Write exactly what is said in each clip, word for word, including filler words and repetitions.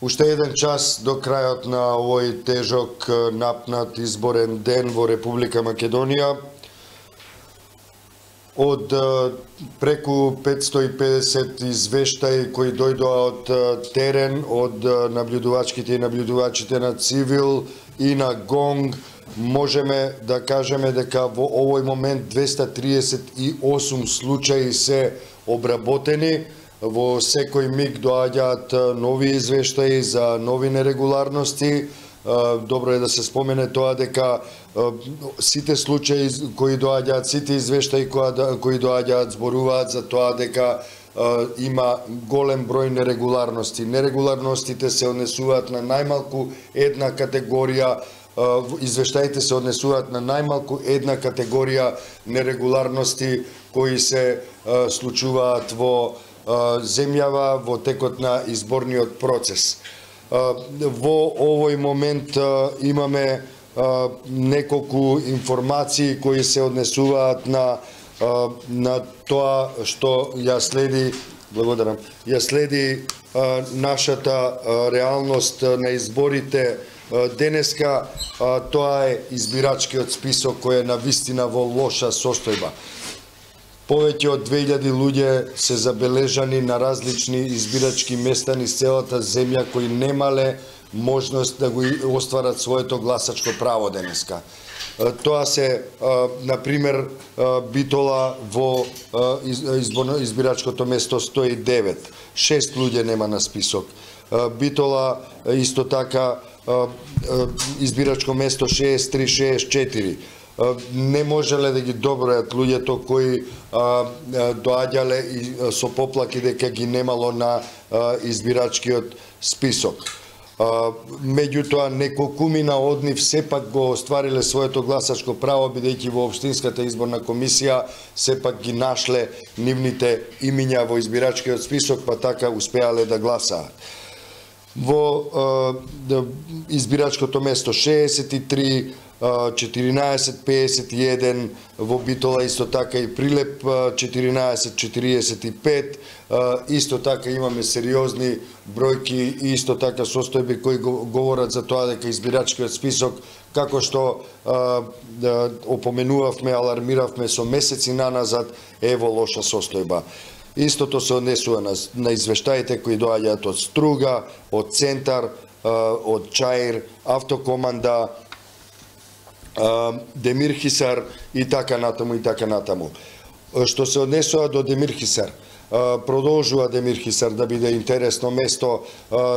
Уште еден час до крајот на овој тежок напнат изборен ден во Република Македонија. Од преку петстотини и педесет извештаи кои дојдоа од терен, од набљудувачките и набљудувачите на Цивил и на Гонг, можеме да кажеме дека во овој момент двеста триесет и осум случаи се обработени. Во секој миг доаѓаат нови извештаи за нови нерегуларности. Добро е да се спомене тоа дека сите случаи кои доаѓаат, сите извештаи кои доаѓаат зборуваат за тоа дека има голем број нерегуларности. Нерегуларностите се однесуваат на најмалку една категорија, извештаите се однесуваат на најмалку една категорија нерегуларности кои се случуваат во земјава во текот на изборниот процес. Во овој момент имаме неколку информации кои се однесуваат на на тоа што ја следи, благодарам, ја следи нашата реалност на изборите денеска. Тоа е избирачкиот список кој е навистина во лоша состојба. Повеќе од две илјади луѓе се забележани на различни избирачки места низ целата земја кои немале можност да го остварат своето гласачко право денеска. Тоа се, например, Битола во избирачкото место сто и девет. Шест луѓе нема на список. Битола исто така избирачко место шеесет и три шеесет и четири. Не можеле да ги добројат луѓето кои доаѓале и со поплаки дека ги немало на избирачкиот список. Меѓутоа, неколкумина од нив сепак го оствариле своето гласачко право, бидејќи во Општинската изборна комисија сепак ги нашле нивните имиња во избирачкиот список, па така успеале да гласаат. Во избирачкото место шеесет и три, четиринаесет пеесет и еден, во Битола исто така и Прилеп четиринаесет четириесет и пет, исто така имаме сериозни бројки и исто така состојби кои говорат за тоа дека избирачкиот список, како што опоменувавме, алармиравме со месеци наназад, е во лоша состојба. Истото се однесува на, на извештаите кои доаѓаат од Струга, од Центар, од Чаир, Автокоманда, Демирхисар и така натаму и така натаму. Што се однесува до Демирхисар, продолжува Демирхисар да биде интересно место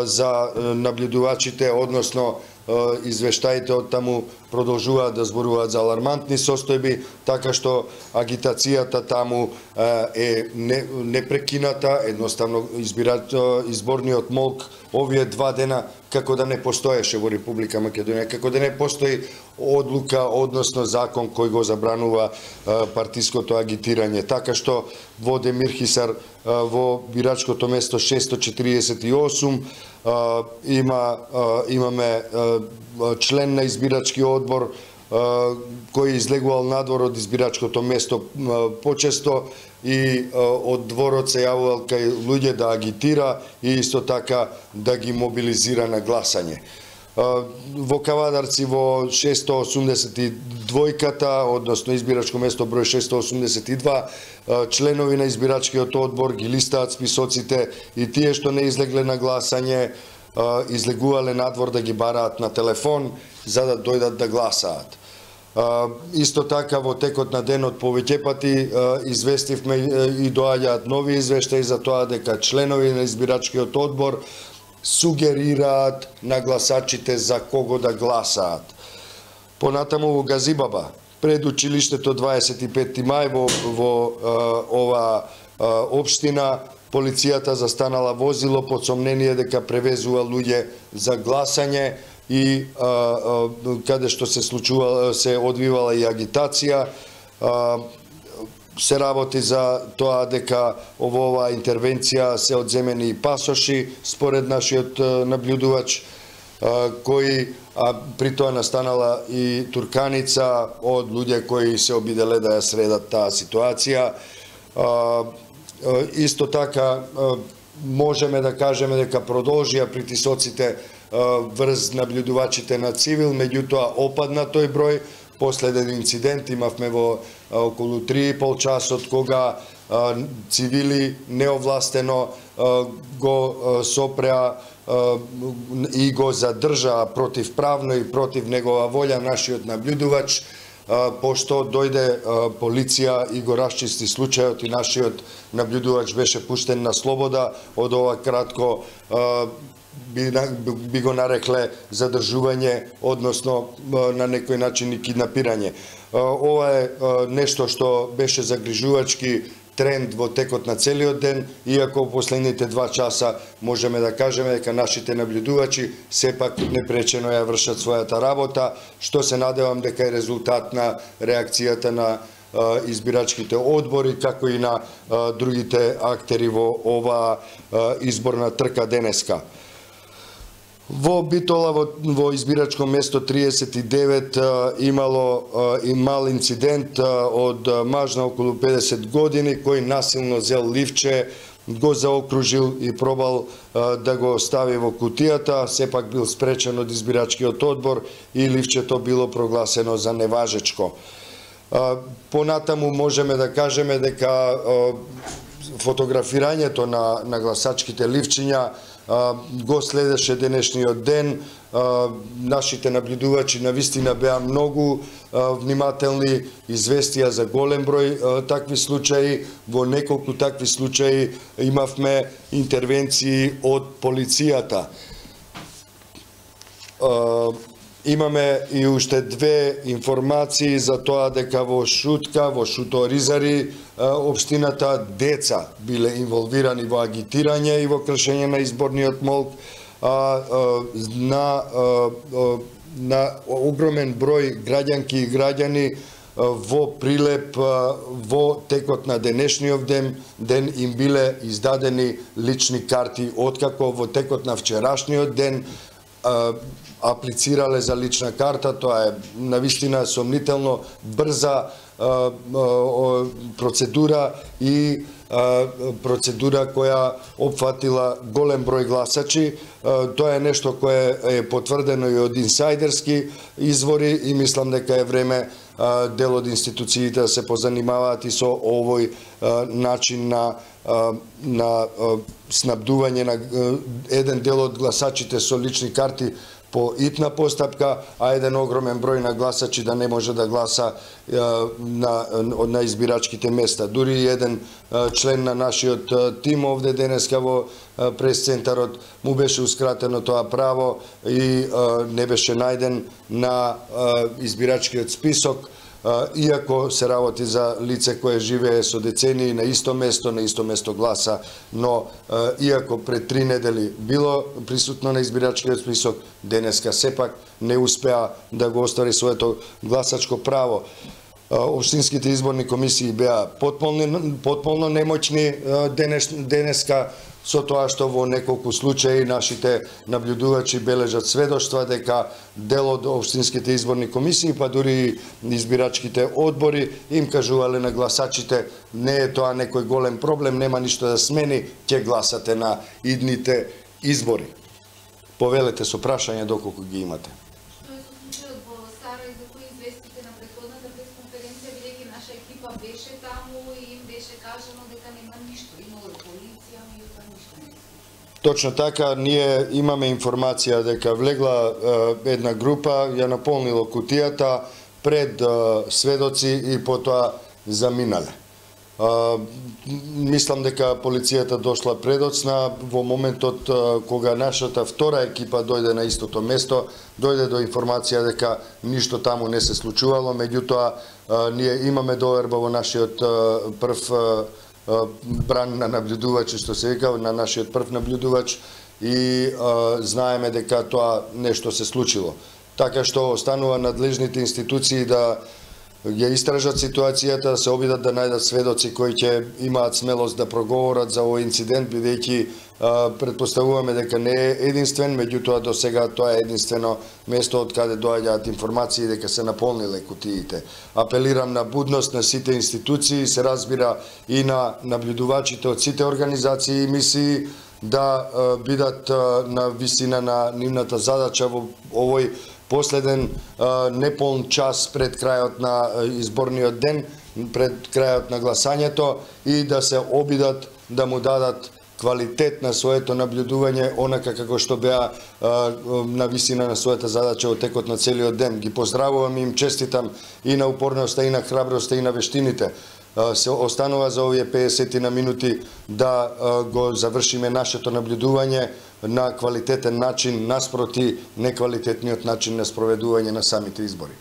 за набљудувачите, односно извештаите од таму продолжуваат да зборуваат за алармантни состојби, така што агитацијата таму е непрекината, едноставно изборниот молк овие два дена како да не постоеше во Република Македонија, како да не постои одлука, односно закон кој го забранува партиското агитирање. Така што во Демирхисар, во бирачкото место шестоста четириесет и осум, има имаме член на избирачки одбор кој излегувал надвор од избирачкото место почесто и од дворот се јавувал кај луѓе да агитира и исто така да ги мобилизира на гласање. Во Кавадарци во шестоста осумдесет и двојката, односно избирачко место број шестоста осумдесет и два, членови на избирачкиот одбор ги листаат списоците и тие што не излегле на гласање излегувале надвор да ги бараат на телефон за да дојдат да гласаат. Исто така во текот на денот повеќе пати известивме и доаѓаат нови извештаи за тоа дека членови на избирачкиот одбор сугерираат на гласачите за кого да гласаат. Понатаму во Газибаба, пред училиштето дваесет и петти мај во, во ова општина, полицијата застанала возило под сомнение дека превезува луѓе за гласање и а, а, каде што се случувала, се одвивала и агитација. А, се работи за тоа дека во оваа интервенција се одземени и пасоши, според нашиот набљудувач, кои а при тоа настанала и турканица од луѓе кои се обиделе да ја средат таа ситуација. Исто така можеме да кажеме дека продолжија притисоците врз наблюдувачите на цивил, меѓутоа опадна тој број. Последен инцидент имавме во околу три и пол часот кога цивили неовластено го сопреа и го задржаа противправно и против негова волја нашиот наблюдувач, пошто дојде полиција и го расчисти случајот и нашиот наблюдувач беше пуштен на слобода од ова кратко би, би го нарекле задржување, односно на некој начин и киднапирање. Ова е нешто што беше загрижувачки тренд во текот на целиот ден, иако во последните два часа можеме да кажеме дека нашите наблюдувачи сепак непречено ја вршат својата работа, што се надевам дека е резултат на реакцијата на избирачките одбори, како и на другите актери во оваа изборна трка денеска. Во Битола, во, во избирачко место триесет и девет, имало и мал инцидент од маж на околу педесет години, кој насилно зел ливче, го заокружил и пробал да го стави во кутијата, сепак бил спречен од избирачкиот одбор и ливчето било прогласено за неважечко. Понатаму можеме да кажеме дека фотографирањето на, на гласачките ливчиња го следеше денешниот ден. Нашите наблюдувачи навистина беа многу внимателни, известија за голем број такви случаи. Во неколку такви случаи имавме интервенции од полицијата. Имаме и уште две информации за тоа дека во Шутка, во Шуто-Оризари, општината деца биле инволвирани во агитирање и во кршење на изборниот молк, на, на огромен број граѓанки и граѓани во Прилеп во текот на денешниот ден, ден им биле издадени лични карти, откако во текот на вчерашниот ден аплицирале за лична карта. Тоа е навистина сомнително брза процедура и процедура која опфатила голем број гласачи. Тоа е нешто кое е потврдено и од инсайдерски извори и мислам дека е време дел од институциите да се позанимаваат и со овој начин на на снабдување на еден дел од гласачите со лични карти по итна постапка, а еден огромен број на гласачи да не може да гласа на, на избирачките места. Дури еден член на нашиот тим овде денеска во прес-центарот му беше ускратено тоа право и не беше најден на избирачкиот список, иако се работи за лице кое живее со децении на исто место, на исто место гласа, но иако пред три недели било присутно на избирачкиот список, денеска сепак не успеа да го оствари своето гласачко право. Општинските изборни комисии беа потполно, потполно немоćни денес, денеска, со тоа што во неколку случаи нашите наблюдувачи бележат сведоштва дека дел од општинските изборни комисии, па дури избирачките одбори, им кажувале на гласачите: не е тоа некој голем проблем, нема ништо да смени, ќе гласате на идните избори. Повелете со прашање доколку ги имате. Што е со случајот во Сарај за кој известите на претходната пресконференција, бидејќи наша екипа беше таму и им беше кажано дека нема ништо, имало полиција, меѓутоа ништо не се случи? Точно така, ние имаме информација дека влегла е, една група, ја наполнило кутијата пред е, сведоци и потоа заминале. Uh, мислам дека полицијата дошла предоцна во моментот uh, кога нашата втора екипа дојде на истото место, дојде до информација дека ништо таму не се случувало, меѓутоа uh, ние имаме доверба во нашиот uh, прв uh, uh, бран на наблюдувачи, што се вика, на нашиот прв наблюдувач и uh, знаеме дека тоа нешто се случило. Така што останува надлежните институции да ја истражат ситуацијата, да се обидат да најдат сведоци кои ќе имаат смелост да проговорат за овој инцидент, бидејќи претпоставуваме дека не е единствен, меѓутоа до сега тоа е единствено место од каде доаѓаат информации дека се наполниле кутиите. Апелирам на будност на сите институции, се разбира и на наблюдувачите од сите организации и мисии, да бидат на висина на нивната задача во овој последен неполн час пред крајот на изборниот ден, пред крајот на гласањето, и да се обидат да му дадат квалитет на своето наблюдување, онака како што беа на висина на својата задача во текот на целиот ден. Ги поздравувам и им честитам и на упорноста, и на храброста, и на вештините. Се останува за овие педесет на минути да го завршиме нашето наблюдување на квалитетен начин наспроти неквалитетниот начин на спроведување на самите избори.